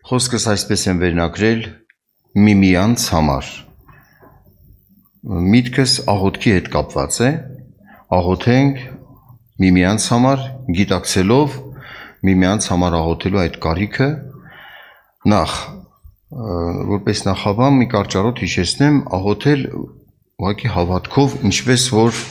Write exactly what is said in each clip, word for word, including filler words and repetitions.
Խոսքս այսպես եմ վերնագրել միմյանց համար։ Միտքս աղոթքի հետ կապված է, աղոթենք միմյանց համար, գիտակցելով միմյանց համար աղոթելու այդ կարիքը։ Նախ, որպես նախաբան մի կարճառոտ հիշեցնեմ, աղոթել ուղղակի հավատքով, ինչպես որ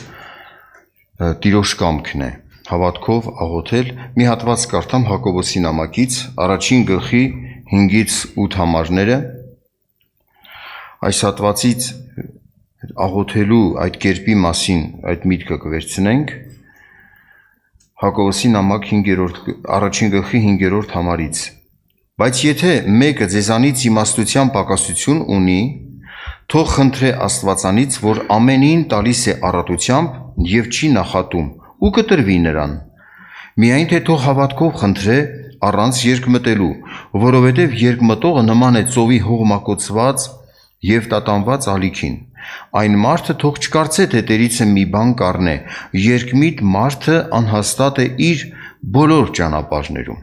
Տիրոջ կամքն է, հավատքով աղոթել։ Մի հատված կարդամ Հակոբոսի նամակից, առաջին գլխի հինգից ութ համարները։ Այս հատվածից աղոթելու այդ կերպի մասին այդ միտքը կվերցնենք Հակոբոսի նամակ առաջին գլխի հինգերորդ համարից։ Բայց եթե մեկը ձեզանից իմաստության պակասություն ունի, թող խնդրե Աստվածանից, որ ամենին տալիս է առատությամբ և չի նախատում, ու կտրվի նրան։ Միայն թե թող հավատքով խնդրե առանց երկմտելու, որովհետև երկմտողը նման է ծովի հողմակոծված և տատանված ալիքին։ Այն մարդը թող չկարծե, թե տերից է մի բան կառնե, երկմիտ մարդը անհաստատ է իր բոլոր ճանապարհներում։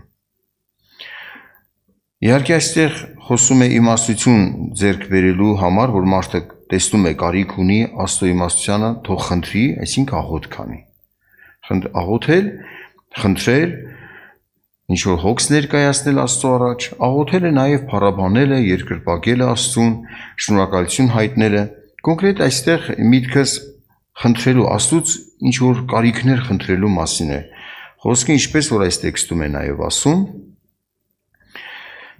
Իհարկե այստեղ խոսում է իմաստություն ձեռք բերելու համար, որ մարդը տեսնում է կարիք ունի Աստծո իմաստությանը, թող խնդրի, այսինքն աղոթք անի։ Աղոթել, խնդրել, ինչ-որ հոգս ներկայացնել Աստծո առաջ, աղոթելը նաև փառաբանել է, երկրպագել է Աստծուն, շնորհակալություն հայտնել է։ Կոնկրետ այստեղ միտքս խնդրելու Աստծուց ինչ-որ կարիքներ խնդրելու մասին է։ Խոսքը ինչպես որ այս տեքստում է նաև ասում,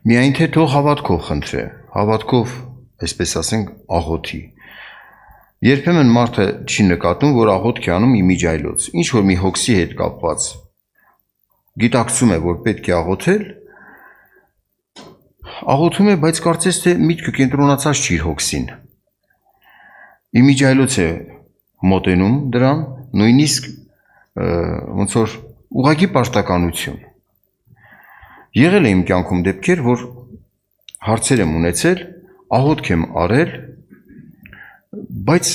միայն թե թող հավատքով խնդրե, հավատքով, այսպես ասենք, աղոթի։ Երբեմն մարդը չի նկատում, որ աղոթք է անում իմիջիայլոց, ինչ որ մի հոգսի հետ կապված, գիտակցում է, որ պետք է աղոթել, աղոթում է, բայց կարծես թե միտքը կենտրոնացած չի իր հոգսին։ Իմիջիայլոց է մոտենում դրան, նույնիսկ ոնց որ ուղղակի պարտականություն։ Եղել է իմ կյանքում դեպքեր, որ հարցեր եմ ունեցել, աղոթք եմ արել, բայց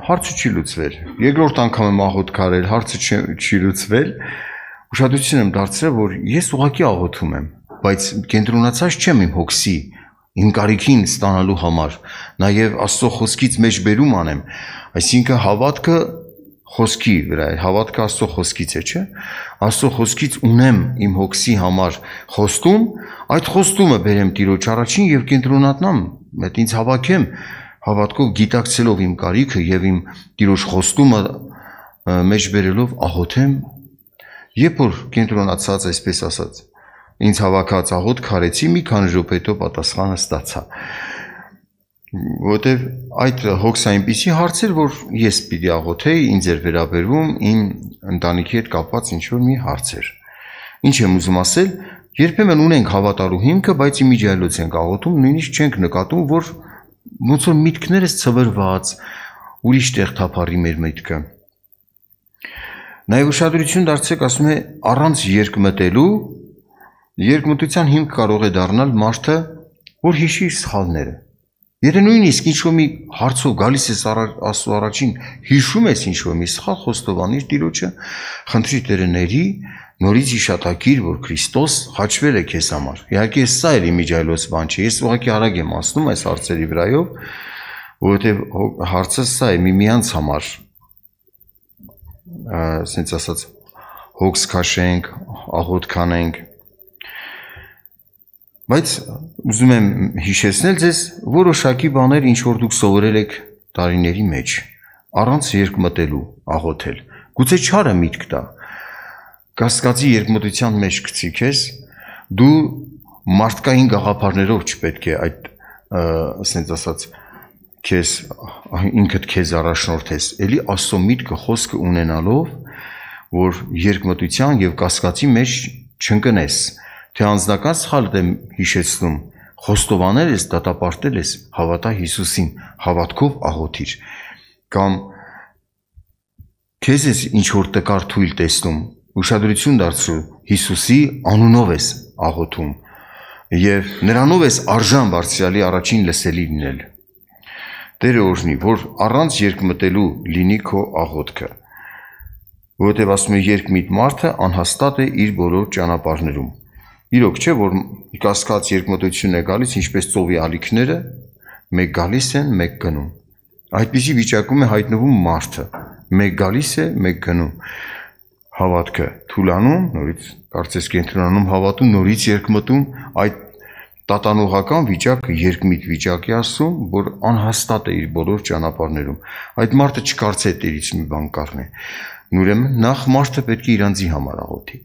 հարցը չի լուծվել։ Երկրորդ անգամ եմ աղոթք արել, հարցը չի լուծվել, ուշադրություն եմ դարձրել, որ ես ուղղակի աղոթում եմ, բայց կենտրոնացած չեմ իմ հոգսի, իմ կարիքին ստանալու համար, նաև Աստծո խոսքից մեջբերում անեմ, այսինքն հավատքը խոսքի վրա է, հավատքը Աստծո խոսքից է, չէ՞։ Աստծո խոսքից ունեմ իմ հոգսի համար խոստում, այդ խոստումը բերեմ Տիրոջ առաջին և կենտրոնանամ, այդ ինձ հավաքեմ, հավատքով գիտակցելով իմ կարիքը և իմ Տիրոջ խոստումը մեջբերելով աղոթեմ, երբ որ կենտրոնացած, այսպես ասած, ինձ հավաքած աղոթք արեցի, մի քանի րոպե հետո պատասխանը ստացա։ Որտև այդ հոգս այնպիսի հարց էր, որ ես պիտի աղոթեի, ինձ էր վերաբերվում, իմ ընտանիքի հետ կապված ինչ-որ մի հարց էր։ Ինչ եմ ուզում ասել, երբեմն ունենք հավատալու հիմքը, բայց իմիջիայլոց ենք աղոթում, նույնիսկ չենք նկատում, որ ոնց որ միտքներս ցվրված, ուրիշ տեղ թափառի մեր միտքը։ Նաև ուշադրություն դարձրեք, ասում է առանց երկմտելու, երկմտության հիմք կարող է դառնալ մարդը, որ հիշի իր սխալները։ Եթե նույնիսկ ինչ-որ մի հարցով գալիս ես Աստծո առաջին, հիշում ես ինչ-որ մի սխալ, խոստովանիր Տիրոջը, խնդրի Տերը ների, նորից հիշատակիր, որ Քրիստոս խաչվել է քեզ համար։ Իհարկե սա էլ իմիջիայլոց բան չէ, ես ուղղակի արագ եմ ասնում այս հարցերի վրայով, որովհետև հարցը սա է միմյանց համար, ասենց ասած, հոգս քաշենք, աղոթք անենք։ Բայց ուզում եմ հիշեցնել ձեզ որոշակի բաներ, ինչ որ դուք սովորել եք տարիների մեջ, առանց երկմտելու աղոթել։ Գուցե չարը միտք տա, կասկածի երկմտության մեջ գցի քեզ, դու մարդկային գաղափարներով չպետք է այդ, ասենց ասած, քեզ ինքդ քեզ առաջնորդես, էլի Աստծո միտքը խոսքը ունենալով, որ երկմտության եւ կասկածի մեջ չընկնես, թե անձնական սխալդ եմ հիշեցնում, խոստովանել ես, դատապարտել ես, հավատա Հիսուսին, հավատքով աղոթիր, կամ քեզ ես ինչ որ տկար թույլ տեսնում, ուշադրություն դարձրու Հիսուսի անունով ես աղոթում եւ նրանով ես արժան բարձրալի առաջին լսելի լինել։ Տերը օրհնի, որ առանց երկմտելու լինի քո աղոթքը, որովհետեւ ասում է երկմիտ մարդը անհաստատ է իր բոլոր ճանապարհներում։ Իրոք չէ, որ կասկած երկմտություն է գալիս, ինչպես ծովի ալիքները, մեկ գալիս են, մեկ գնում։ Այդպիսի վիճակում է հայտնվում մարդը, մեկ գալիս է, մեկ գնում։ Հավատքը թուլանում, նորից կարծես կենտրոնանում հավատում, նորից երկմտում, այդ տատանողական վիճակը երկմիտ վիճակ է ասում, որ անհաստատ է իր բոլոր ճանապարհներում։ Այդ մարդը չկարծե տերից մի բան կառնի։ Ուրեմն նախ մարդը պետք է իրանձի համար աղոթի։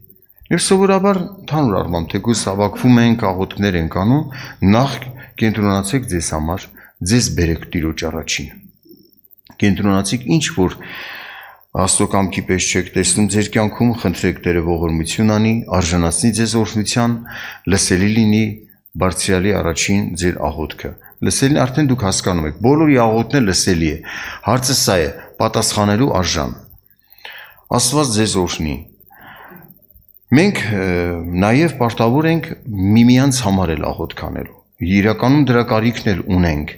Եվ սովորաբար ընդհանուր առմամբ թեկուզ հավաքվում ենք, աղոթքներ ենք անում, նախ կենտրոնացեք ձեզ համար, ձեզ բերեք Տիրոջ առաջին։ Կենտրոնացեք ինչ որ Աստծո կամքի պես չեք տեսնում ձեր կյանքում, խնդրեք Տերը ողորմություն անի, արժանացնի ձեզ օրհնության, լսելի լինի Բարձրյալի առաջին ձեր աղոթքը։ Լսելին արդեն դուք հասկանում եք, բոլորի աղոթքն լսելի է։ Հարցը սա է, պատասխանելու արժան։ Աստված ձեզ օրհնի։ Մենք նաև պարտավոր ենք միմյանց համար էլ աղոթք անելու։ Իրականում դրա կարիքն էլ ունենք։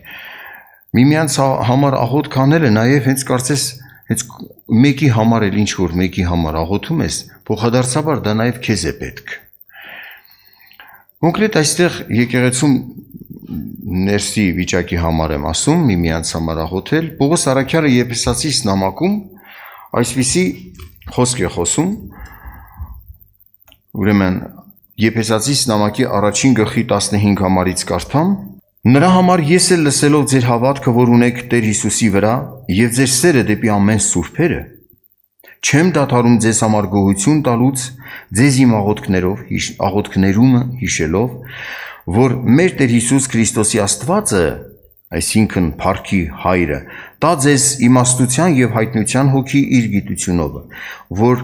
Միմյանց համար աղոթք անելը նաև հենց կարծես հենց մեկի համար էլ ինչ որ մեկի համար աղոթում ես, փոխադարձաբար դա նաև քեզ է պետք։ Կոնկրետ այստեղ եկեղեցում ներսի վիճակի համար եմ ասում, միմյանց համար աղոթել։ Պողոս առաքյալը Եփեսացիս նամակում այսպիսի խոսք է խոսում։ Ուրեմն Եփեսացիս նամակի առաջին գլխի տասնհինգ համարից կարդամ. Նրա համար ես էլ լսելով ձեր հավատքը, որ ունեք Տեր Հիսուսի վրա, եւ ձեր սերը դեպի ամեն սուրբերը, չեմ դադարում ձեզ համար գոհություն տալուց, ձեզ իմ աղոթքներով, աղոթքներում հիշելով, որ մեր Տեր Հիսուս Քրիստոսի Աստվածը, այսինքն Փառքի Հայրը, տա ձեզ իմաստության եւ հայտնության հոգի իր գիտությունով, որ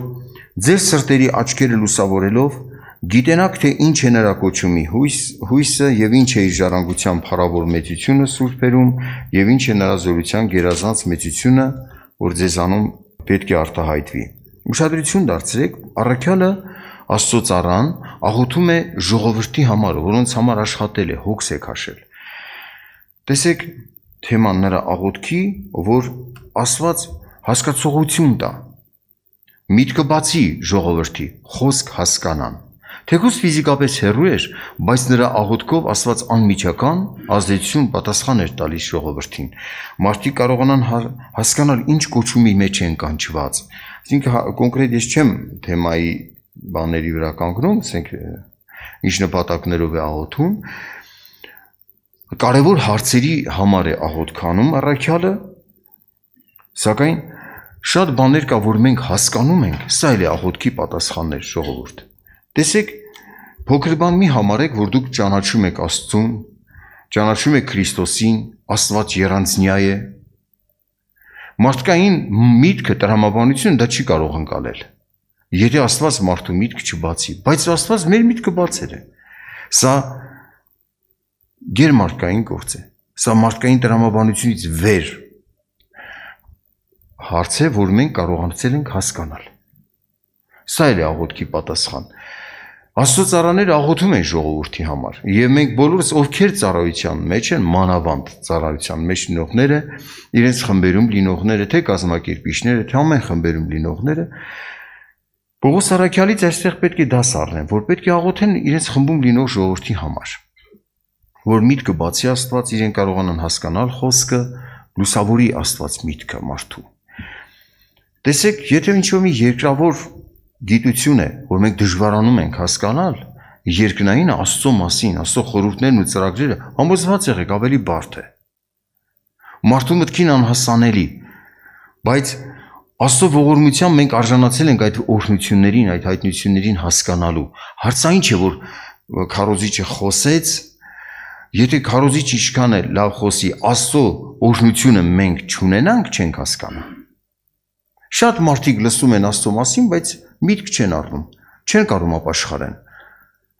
ձեր սրտերի աչքերը լուսավորելով գիտենաք թե ինչ է նրա կոչումի հույս, հույսը եւ ինչ է իր ժառանգության փառավոր մեծությունը սուրբերում եւ ինչ է նրա զորության գերազանց մեծությունը, որ ձեզանում պետք է արտահայտվի։ Ուշադրություն դարձրեք, առաքյալը Աստծո ծառան աղոթում է ժողովրդի համար, որոնց համար աշխատել է, հոգս է քաշել։ Տեսեք թեման նրա աղոթքի, որ Աստված հասկացողություն տա, միտքը բացի ժողովրդի, խոսք հասկանան։ Թեկուզ ֆիզիկապես հեռու էր, բայց նրա աղոթքով Աստված անմիջական ազդեցություն պատասխան էր տալիս ժողովրդին։ Մարդիկ կարողանան հասկանալ ինչ կոչումի մեջ են կանչված։ Այսինքն կոնկրետ ես չեմ թեմայի բաների վրա կանգնում, ասենք ինչ նպատակներով է աղոթում։ Կարևոր հարցերի համար է աղոթքանում առաքյալը, սակայն շատ բաներ կա, որ մենք հասկանում ենք, սա էլ է աղոթքի պատասխաններ ժողովուրդ։ Տեսեք, փոքր բան մի համարեք, որ դուք ճանաչում եք Աստծուն, ճանաչում եք Քրիստոսին, Աստված եռանձնյա է։ Մարդկային միտքը, տրամաբանությունը դա չի կարող ընկալել։ Եթե Աստված մարդու միտքը չբացի, բայց Աստված մեր միտքը բացել է։ Սա գերմարդկային գործ է։ Սա մարդկային տրամաբանությունից վեր հարց է, որ մենք կարողացել ենք հասկանալ։ Սա էլ է աղոթքի պատասխան։ Աստծո ծառաները աղոթում են ժողովրդի համար, եւ մենք բոլորս, ովքեր ծառայության մեջ են, մանավանդ ծառայության մեջ լինողները, իրենց խմբերում լինողները, թե կազմակերպիչները, թե ամեն խմբերում լինողները, Պողոս առաքյալից այստեղ պետք է դաս առնեն, որ պետք է աղոթեն իրենց խմբում լինող ժողովրդի համար, որ միտքը բացի Աստված իրեն կարողանան հասկանալ խոսքը, լուսավորի Աստված միտքը մարդու։ Տեսեք, եթե ինչ-որ մի երկրավոր գիտություն է, որ մենք դժվարանում ենք հասկանալ, երկնային Աստծո մասին, Աստծո խորհուրդներն ու ծրագրերը, համոզված եղեք ավելի բարդ է։ Մարդու մտքին անհասանելի, բայց Աստծո ողորմությամբ մենք արժանացել ենք այդ օրհնություններին, այդ հայտնություններին հասկանալու։ Հարցը ինչ է, որ քարոզիչը խոսեց, եթե քարոզիչը ինչքան է լավ խոսի, Աստծո օրհնությունը մենք չունենանք, չենք հասկանա։ Շատ մարդիկ լսում են Աստծո մասին, բայց միտք չեն առնում, չեն կարող ապաշխարեն։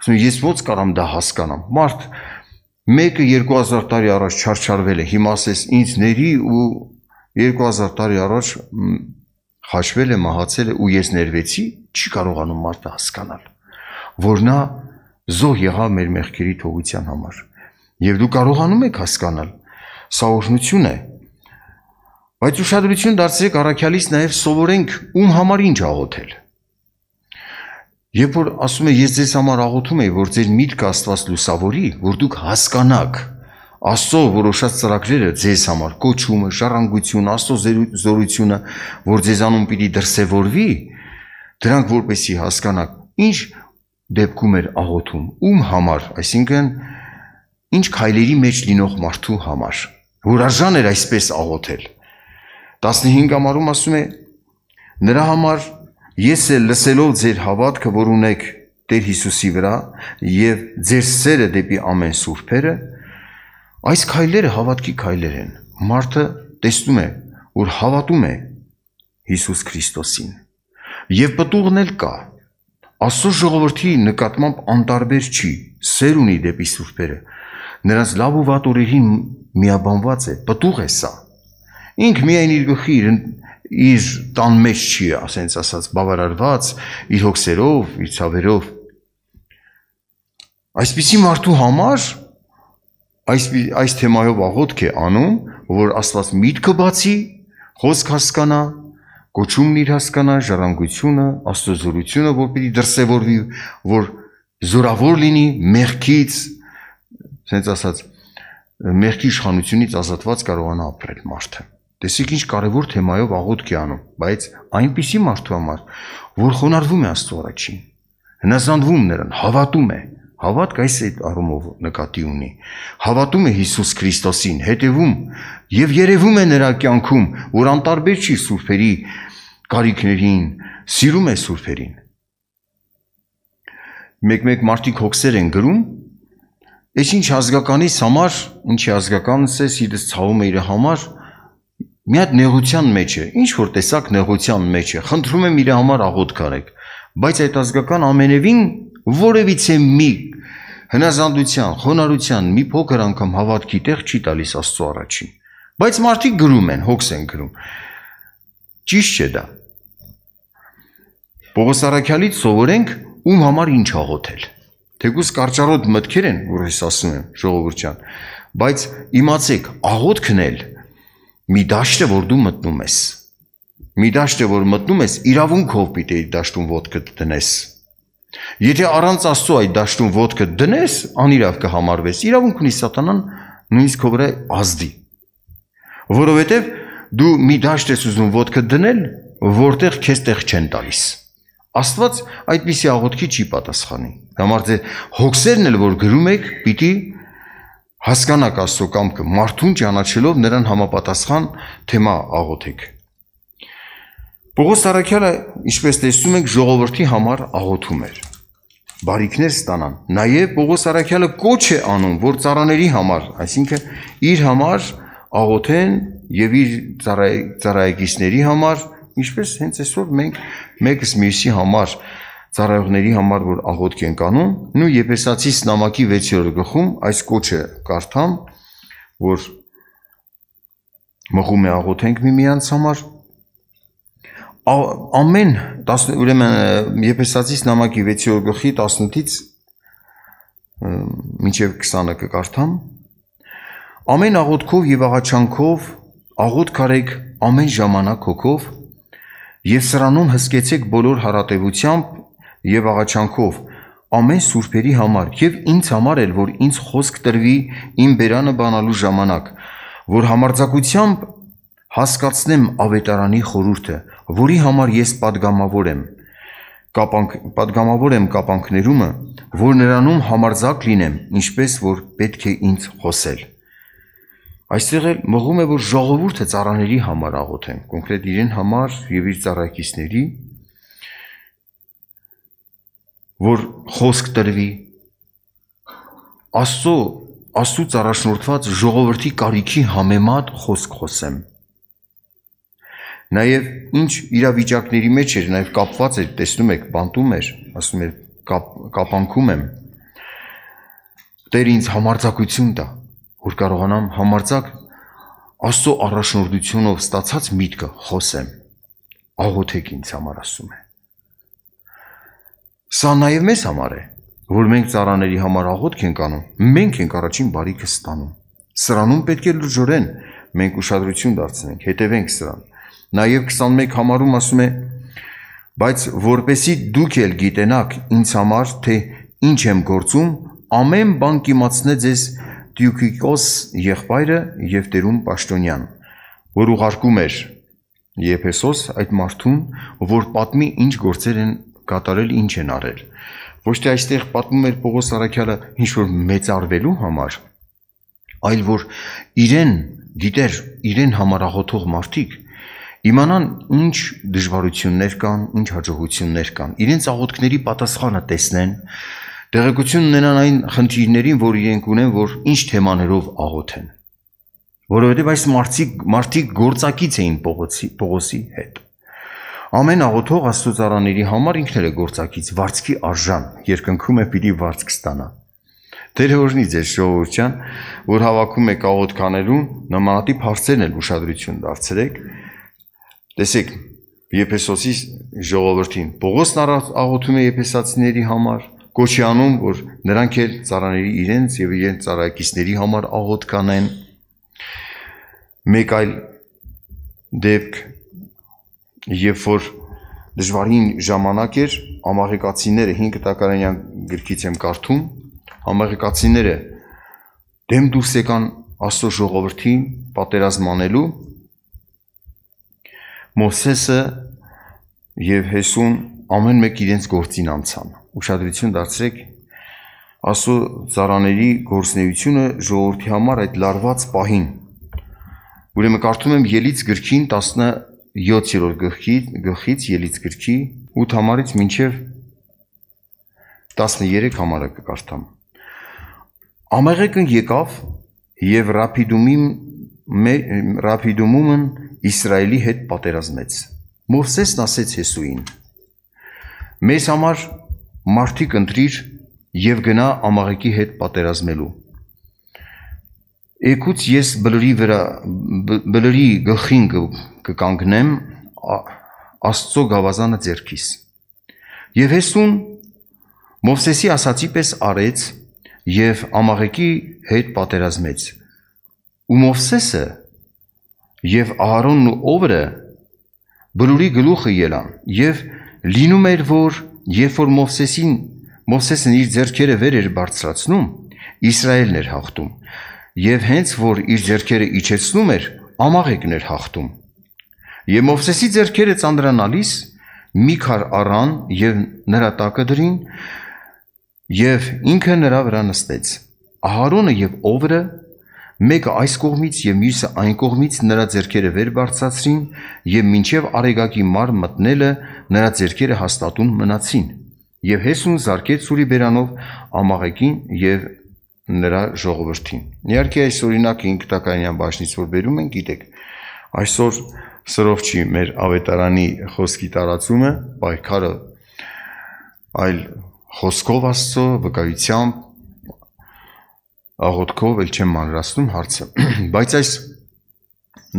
Ասում ես ո՞նց կարամ դա հասկանամ։ Մարդ մեկը երկու հազար տարի առաջ չարչարվել է, հիմա ասես ինձ ների ու երկու հազար տարի առաջ խաչվել է, մահացել է ու ես ներվեցի, չի կարողանում մարդը հասկանալ, որ նա զոհ եղավ մեր մեղքերի թողության համար։ Եվ դու կարողանում եք հասկանալ, սա օրհնություն է։ Բայց ուշադրություն դարձրեք առաքյալից նաև սովորենք ում համար ինչ աղոթել։ Երբ որ ասում է ես ձեզ համար աղոթում եմ, որ ձեր միտքը Աստված լուսավորի, որ դուք հասկանաք Աստծո որոշած ծրագրերը ձեզ համար, կոչումը, ժառանգությունը, Աստծո զորությունը, որ ձեզանում պիտի դրսևորվի, դրանք որպեսզի հասկանաք, ինչ դեպքում էր աղոթում, ում համար, այսինքն ինչ քայլերի մեջ լինող մարդու համար, որ արժան էր այսպես աղոթել։ տասնհինգ ամառում ասում է. նրա համար ես էլ լսելով ձեր հավատքը, որ ունեք Տեր Հիսուսի վրա եւ ձեր սերը դեպի ամեն սուրբերը, այս քայլերը հավատքի քայլեր են։ Մարդը տեսնում է, որ հավատում է Հիսուս Քրիստոսին եւ պտուղն էլ կա։ Աստծո ժողովրդի նկատմամբ անտարբեր չի, սեր ունի դեպի սուրբերը, նրանց լավ ու վատ օրերին միաբանված է, պտուղ է սա։ Ինք միայն իր գլխի իր տան մեջ չի, ասենց ասած, բավարարված իր հոգսերով, իր ցավերով։ Այսպիսի մարդու համար այս այս թեմայով աղոթք է անում, որ Աստված միտքը բացի, խոսք հասկանա, կոչումն իր հասկանա, ժառանգությունը, Աստծո զորությունը, որ պիտի դրսևորվի, որ զորավոր լինի մեղքից, ասենց ասած, մեղքի իշխանությունից ազատված կարողանա ապրել մարդը։ Տեսեք ինչ կարևոր թեմայով աղոթք է անում, բայց այնպիսի մարդու համար, որ խոնարհվում է Աստծո առաջին, հնազանդվում նրան, հավատում է, հավատք այս այդ առումով նկատի ունի, հավատում է Հիսուս Քրիստոսին, հետևում եւ երևում է նրա կյանքում, որ անտարբեր չի սուրբերի կարիքներին, սիրում է սուրբերին։ Մեկ-մեկ մարդիկ հոգսեր են գրում, այս ինչ ազգականից համար, ինչի ազգականս է, սիրտս ցավում է իր համար, մի հատ նեղության մեջ է, ինչ որ տեսակ նեղության մեջ է, խնդրում եմ իր համար աղոթք արեք, բայց այդ ազգական ամենևին որևիցե մի հնազանդության, խոնարհության, մի փոքր անգամ հավատքի տեղ չի տալիս Աստծո առաջին, բայց մարդիկ գրում են, հոգս են գրում, ճիշտ չէ դա։ Պողոս առաքյալից սովորենք ում համար ինչ աղոթել, թեկուզ կարճառոտ մտքեր են, որ ես ասում եմ ժողովուրդ ջան, բայց իմացեք, աղոթքն էլ մի դաշտ է, որ դու մտնում ես, մի դաշտ է, որ մտնում ես, իրավունքով պիտի այդ դաշտում ոտքը դնես, եթե առանց Աստծո այդ դաշտում ոտքը դնես, անիրավ կհամարվես, իրավունք ունի սատանան նույնիսկ քո վրա ազդի, որովհետև դու մի դաշտ ես ուզում ոտքը դնել, որտեղ քեզ տեղ չեն տալիս, Աստված այդպիսի աղոթքի չի պատասխանի, համար ձեր հոգսերն էլ որ գրում եք, պիտի հասկանաք Աստծո կամքը, մարդուն ճանաչելով նրան համապատասխան թեմա աղոթեք։ Պողոս առաքյալը, ինչպես տեսնում եք, ժողովրդի համար աղոթում էր, բարիքներ ստանան, նաև Պողոս առաքյալը կոչ է անում, որ ծառաների համար, այսինքն իր համար աղոթեն եւ իր ծառայեկիցների համար, ինչպես հենց այսօր մենք մեկս մյուսի համար ծառայողների համար որ աղոթք ենք անում, նու Եփեսացիս նամակի վեցերորդ գլխում այս կոչը կարդամ, որ մղում է աղոթենք միմյանց համար, ամեն, ուրեմն Եփեսացիս նամակի վեցերորդ գլխի տասնութից մինչև քսանը կկարդամ, ամեն աղոթքով եւ աղաչանքով աղոթք արեք ամեն ժամանակ հոգով եւ սրանում հսկեցեք բոլոր հարատեվությամբ եւ աղաչանքով ամեն սուրբերի համար եւ ինձ համար էլ որ ինձ խոսք տրվի իմ բերանը բանալու ժամանակ որ համարձակությամբ հասկացնեմ ավետարանի խորհուրդը որի համար ես պատգամավոր եմ կապանք պատգամավոր եմ կապանքներումը որ նրանում համարձակ լինեմ ինչպես որ պետք է ինձ խոսել այստեղ էլ մղում է որ ժողովուրդը ծառաների համար աղոթեն կոնկրետ իրեն համար եւ իր ծառայեկիցների որ խոսք տրվի Աստծո Աստծուց առաջնորդված ժողովրդի կարիքի համեմատ խոսք խոսեմ նաև ինչ իրավիճակների մեջ էր նաև կապված էր տեսնում եք բանտում էր ասում էր կապ, կապանքում եմ Տեր ինձ համարձակություն տա որ կարողանամ համարձակ Աստծո առաջնորդությունով ստացած միտքը խոսեմ աղոթեք ինձ համար ասում է Սա նաև մեզ համար է, որ մենք ծառաների համար աղոթք ենք անում, մենք ենք առաջին բարիքը ստանում։ Սրանում պետք է լրջորեն մենք ուշադրություն դարձնենք, հետևենք սրան։ Նաև քսանմեկ համարում ասում է, Բայց որպեսի դուք էլ գիտենաք ինձ համար, թե ինչ եմ գործում, ամեն բան կիմացնե ձեզ Տյուքիկոս եղբայրը և տերում Պաշտոնյան, որ ուղարկում էր Եփեսոս այդ մարդուն, որ պատմի ինչ գործեր են կատարել, ինչ են արել։ Ոչ թե այստեղ պատմում էր Պողոս առաքյալը ինչ-որ մեծարվելու համար, այլ որ իրեն գիտեր, իրեն համար աղոթող մարդիկ իմանան ինչ դժվարություններ կան, ինչ հաջողություններ կան, իրենց աղոթքների պատասխանը տեսնեն, տեղեկություն ունենան այն խնդիրներին, որ իրենք ունեն, որ ինչ թեմաներով աղոթեն, որովհետև այս մարդիկ գործակից էին Պողոսի, Պողոսի հետ։ Ամեն աղոթող աստծոծարաների համար ինքն էլ է գործակից, վարձքի արժան, երկնքում է պիտի վարձք ստանա։ Տերը օրհնի ձեզ ժողովուրդ ջան, որ հավաքում եք աղոթքանելուն, նմանատիպ հարցերն էլ ուշադրություն դարձրեք։ Տեսեք, Եփեսոսի ժողովրդին Պողոսն աղոթում է եփեսացիների համար, կոչի անում, որ նրանք էլ ծառաների իրենց եւ իրենց ծառայակիցների համար աղոթք անեն։ Մեկ այլ դեպք, երբ որ դժվարին ժամանակ էր, ամաղեկացիները հինգ տակարանյան գրքից եմ կարդում, ամաղեկացիները դեմ դուրս եկան Աստծո ժողովրդին պատերազմ անելու, Մովսեսը եւ Հեսուն ամեն մեկ իրենց գործին անցան։ Ուշադրություն դարձրեք, Աստծո ծառաների գործունեությունը ժողովրդի համար այդ լարված պահին։ Ուրեմն կարդում եմ Ելից գրքին տասնյոթերորդ գլխից, գլխից Ելից գրքի ութ համարից մինչև տասներեք համարը կկարդամ։ Ամեղեկն եկավ եւ Ռափիդումումն Իսրայելի հետ պատերազմեց։ Մովսեսն ասեց Հեսուին. մեզ համար մարդիկ ընտրիր եւ գնա Ամաղեկի հետ պատերազմելու։ Էկուց ես բլրի վրա բլրի գլխին կկանգնեմ Աստծո գավազանը ձեռքիս։ Եվ Հեսուն Մովսեսի ասացի պես արեց եւ Ամաղեկի հետ պատերազմեց։ Ու Մովսեսը եւ Ահարոնն ու Օվրը բլուրի գլուխը ելան եւ լինում էր, որ երբ որ Մովսեսին Մովսեսն իր ձեռքերը վեր էր բարձրացնում, Իսրայելն էր հաղթում, եւ հենց որ իր ձեռքերը իջեցնում էր, Ամաղեկն էր հաղթում։ Եվ Մովսեսի ձեռքերը ծանրանալիս մի քար առան եւ նրա տակը դրին եւ ինքը նրա վրա նստեց։ Ահարոնը եւ Օվրը մեկը այս կողմից եւ մյուսը այն կողմից նրա ձեռքերը վեր բարձրացրին եւ մինչեւ արեգակի մար մտնելը նրա ձեռքերը հաստատուն մնացին։ Եվ Հեսուն զարկեց սուրի բերանով Ամաղեկին եւ նրա ժողովրդին։ Իհարկե այս օրինակը հինգ տակարանյան բաժնից որ բերում են, գիտեք, այսօր սրով չի մեր ավետարանի խոսքի տարածումը, պայքարը այլ խոսքով Աստծո, վկայությամբ, աղոթքով էլ չեմ մանրացնում հարցը, բայց այս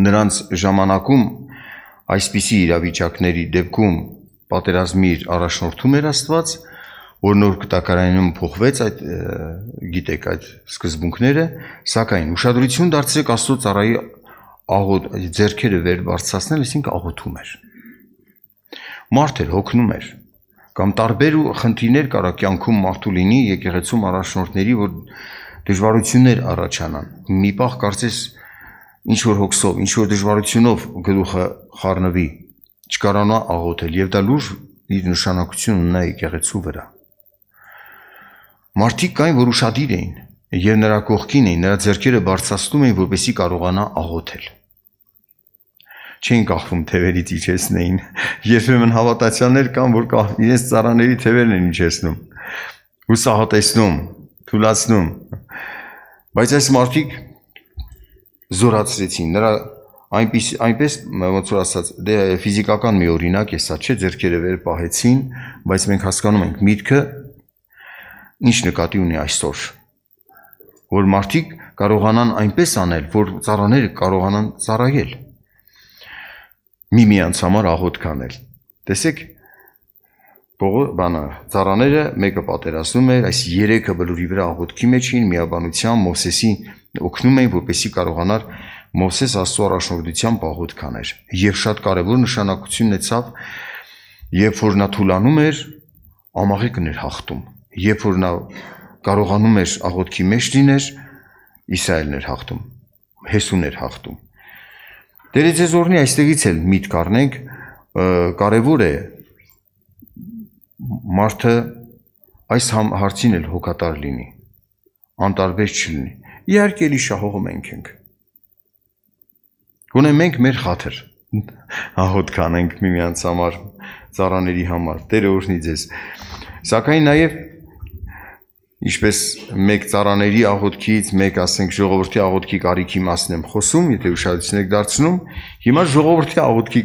նրանց ժամանակում այսպիսի իրավիճակների դեպքում պատերազմի առաջնորդում էր Աստված, որ նոր կտակարանում փոխվեց այդ գիտեք այդ սկզբունքները, սակայն ուշադրություն դարձրեք Աստծո ծառայի աղոթ ձեռքերը վեր բարձրացնել, այսինքն աղոթում էր։ Մարդ էր հոգնում էր, կամ տարբեր ու խնդիրներ կարա կյանքում մարդու լինի եկեղեցում առաջնորդների, որ դժվարություններ առաջանան։ Մի պահ կարծես ինչ որ հոգսով, ինչ որ դժվարությունով գլուխը խառնվի, չկարանա աղոթել, եւ դա լուրջ իր նշանակություն ունի եկեղեցու վրա։ Մարդիկ կային, որ ուշադիր էին, եւ նրա կողքին էին, նրա ձեռքերը բարձրացնում էին, որպեսզի կարողանա աղոթել։ Չեն կախվում թևերից իջեցնեին, երբեմն հավատացյալներ կան, որ իրենց ծառաների թևերն են իջեցնում, հուսահատեցնում, թուլացնում, բայց այս մարդիկ զորացրեցին, նրա այնպես, այնպես ոնց որ ասած, դե ֆիզիկական մի օրինակ է սա, չէ, ձեռքերը վեր պահեցին, բայց մենք հասկանում ենք միտքը ինչ նկատի ունի այսօր, որ մարդիկ կարողանան այնպես անել, որ ծառաները կարողանան ծառայել, միմյանց համար աղոթք անել։ Տեսեք, բանը, ծառաները մեկը պատերազմում էր, այս երեքը բլուրի վրա աղոթքի մեջ էին, միաբանությամբ Մովսեսի օգնում էին, որպեսզի կարողանար Մովսես Աստծո առաջնորդությամբ աղոթք աներ։ Եվ շատ կարևոր նշանակություն ունեցավ, երբ որ նա թուլանում էր, ամաղիկն էր հաղթում, երբ որ նա կարողանում էր աղոթքի մեջ լիներ, Իսրայելն էր հաղթում, Հեսուն էր հաղթում։ Տերը ձեզ օրհնի, այստեղից էլ միտք առնենք, կարևոր է մարդը այս հարցին էլ հոգատար լինի, անտարբեր չլինի։ Իհարկե էլի շահողում ենք ենք։ Գոնե մենք մեր խաթր աղոթք անենք միմյանց համար, ծառաների համար, Տերը օրհնի ձեզ։ Սակայն նաև ինչպես մեկ ծառաների աղոթքից, մեկ ասենք ժողովրդի աղոթքի կարիքի մասն եմ խոսում, եթե ուշադրություն եք դարձնում, հիմա ժողովրդի աղոթքի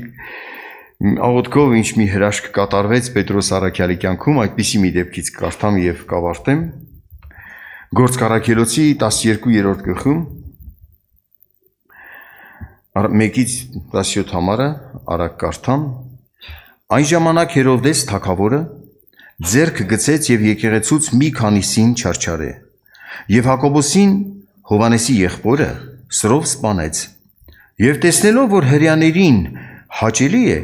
աղոթքով ինչ մի հրաշք կատարվեց Պետրոս առաքյալի կյանքում, այդպիսի մի դեպքից կարդամ եւ կավարտեմ։ Գործք առաքելոցի տասներկուերորդ գլխում մեկից տասնյոթ համարը արագ կարդամ։ Այն ժամանակ Հերովդես թագավորը ձեռք գցեց եւ եկեղեցուց մի քանիսին չարչարե եւ Հակոբոսին Հովանեսի եղբորը սրով սպանեց եւ տեսնելով որ հրեաներին հաճելի է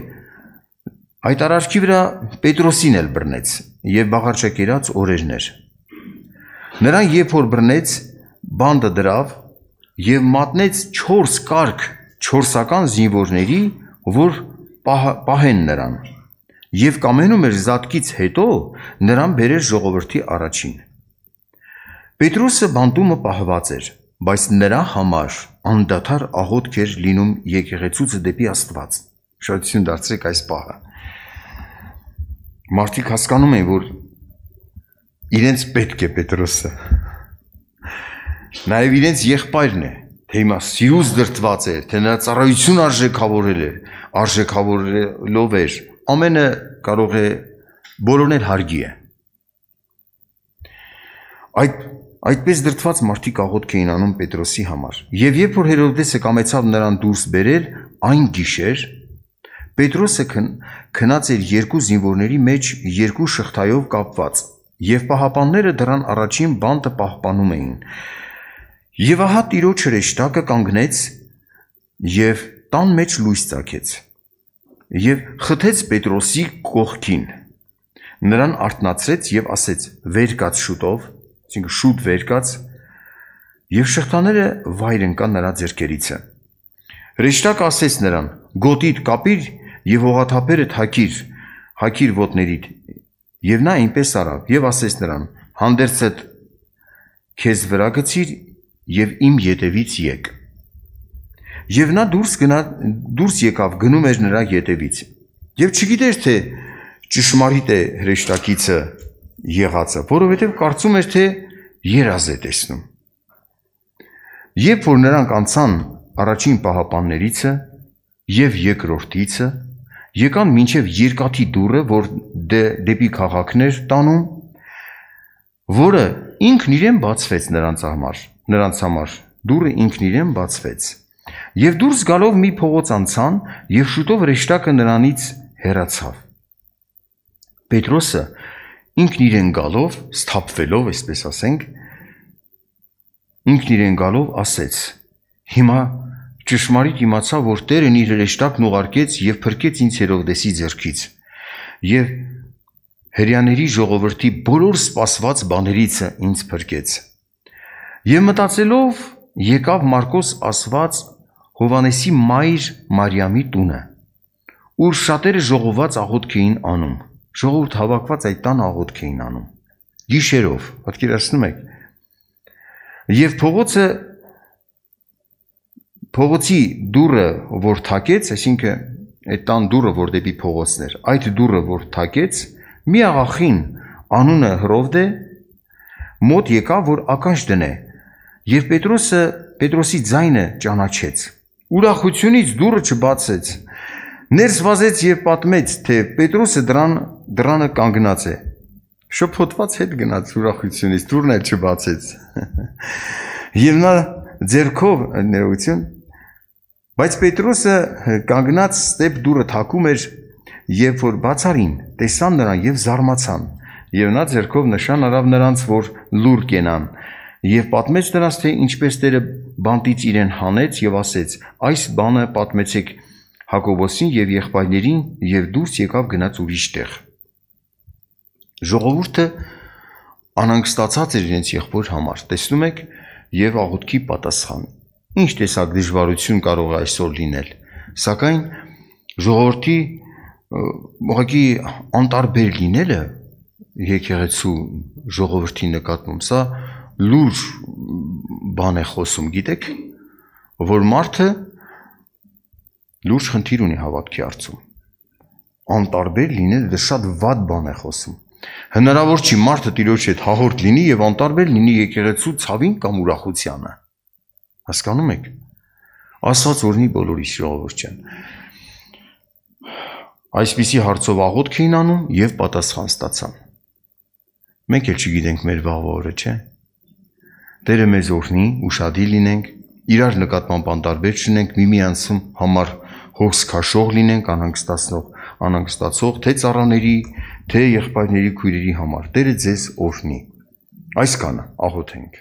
այդ արարքի վրա Պետրոսին էլ բռնեց եւ բաղարջակերած օրերներ նրան երբ որ բռնեց բանդը դրավ եւ մատնեց չորս կարգ չորսական զինվորների որ պահեն նրան Եվ կամենում էր զատկից հետո նրան բերեր ժողովրդի առաջին։ Պետրոսը բանտումը պահված էր, բայց նրա համար անդադար աղոթք էր լինում եկեղեցուց դեպի Աստված։ Շնորհակալություն դարձրեք այս պահը։ Մարդիկ հասկանում են, որ իրենց պետք է Պետրոսը։ Նաև իրենց եղբայրն է, թե հիմա սիրուց դրտված էր, թե նրա ծառայություն արժեքավորել էր, արժեքավորելով էր։ Ամենը կարող է բոլորն էլ հարգի է։ Այդ այդպես դրդված մարդիկ աղոթք էին անում Պետրոսի համար։ Եվ երբ որ Հերովդեսը կամեցավ նրան դուրս բերել, այն գիշեր Պետրոսը քնած էր երկու զինվորների մեջ երկու շղթայով կապված, եւ պահապանները դրան առաջին բանտը պահպանում էին։ Եվ ահա տիրոջ հրեշտակը կանգնեց եւ տան մեջ լույս ծագեց։ Եվ խթեց Պետրոսի կողքին, նրան արթնացրեց եւ ասեց. «Վեր կաց շուտով», այսինքն շուտ վեր կաց, եւ շղթաները վայր ընկան նրա ձեռքերիցը։ Հրեշտակը ասեց նրան. «Գոտիդ կապիր եւ հողաթափերը թակիր, հագիր ոտներիդ»։ Եվ նա այնպես արավ եւ ասեց նրան. «Հանդերձդ քեզ վրա գցիր եւ իմ ետևից եկ»։ Եվ նա դուրս գնա դուրս եկավ գնում էր նրա ետևից եւ չգիտեր թե ճշմարիտ է հրեշտակիցը եղածը, որովհետեւ կարծում էր թե երազ է տեսնում։ Երբ որ նրանք անցան առաջին պահապաններիցը եւ երկրորդիցը, եկան մինչեւ երկաթի դուռը, որ դեպի քաղաքներ տանում, որը ինքն իրեն բացվեց նրանց համար, նրանց համար դուռը ինքն իրեն բացվեց։ Եվ դուրս գալով մի փողոց անցան եւ շուտով հրեշտակը նրանից հեռացավ։ Պետրոսը ինքն իրեն գալով, սթափվելով, այսպես ասենք, ինքն իրեն գալով ասեց. Հիմա ճշմարիտ իմացա, որ Տերն իր հրեշտակն ուղարկեց եւ փրկեց ինձ Հերովդեսի ձեռքից եւ հրեաների ժողովրդի բոլոր սպասված բաներից ինձ փրկեց։ Եվ մտածելով եկավ Մարկոս ասված Հովանեսի մայր Մարիամի տունը, ուր շատերը ժողոված աղոթք էին անում, ժողովուրդ հավաքված այդ տան աղոթք էին անում, գիշերով, պատկերացնում եք, եւ փողոցը, փողոցի դուռը, որ թակեց, այսինքն այդ տան դուռը, որ դեպի փողոցն էր, այդ դուռը, որ թակեց, մի աղախին անունը Հրովդե մոտ եկավ, որ ականջ դնե, եւ Պետրոսը Պետրոսի ձայնը ճանաչեց։ Ուրախությունից դուռը չբացեց, ներս վազեց եւ պատմեց, թե Պետրոսը դրան դրանը կանգնած է։ Շփոթված հետ գնաց ուրախությունից, դուռն էլ չբացեց։ Եվ նա ձեռքով ներողություն, բայց Պետրոսը կանգնած ստեպ դուռը թակում էր, երբ որ բացարին, տեսան նրան եւ զարմացան, եւ նա ձեռքով նշան արավ նրանց, որ լուր կենան։ Եվ պատմեց նրանց, թե ինչպես Տերը բանտից իրեն հանեց եւ ասեց. այս բանը պատմեցեք Հակոբոսին եւ եղբայրներին եւ դուրս եկավ գնաց ուրիշ տեղ։ Ժողովուրդը անհանգստացած էր իրենց եղբոր համար, տեսնում եք, եւ աղոթքի պատասխան։ Ինչ տեսակ դժվարություն կարող է այսօր լինել, սակայն ժողովրդի ուղղակի անտարբեր լինելը եկեղեցու ժողովրդի նկատմամբ սա լուրջ բան է խոսում, գիտեք, որ մարդը լուրջ խնդիր ունի հավատքի հարցում։ Անտարբեր լինելը դա շատ վատ բան է խոսում։ Հնարավոր չի մարդը Տիրոջ հետ հաղորդ լինի եւ անտարբեր լինի եկեղեցու ցավին կամ ուրախությանը։ Հասկանում եք։ Աստված օրհնի բոլորիս ժողովուրդ ջան։ Այսպիսի հարցով աղոթք էին անում եւ պատասխան ստացան։ Մենք էլ չգիտենք մեր վաղվա օրը, չէ՞։ Տերը մեզ օրհնի, ուշադիր լինենք, իրար նկատմամբ անտարբեր չլինենք, միմյանցում համար հոգս քաշող լինենք, անհանգստացնող, անհանգստացող թե ծառաների, թե եղբայրների, քույրերի համար։ Տերը ձեզ օրհնի։ Այսքանը աղոթենք։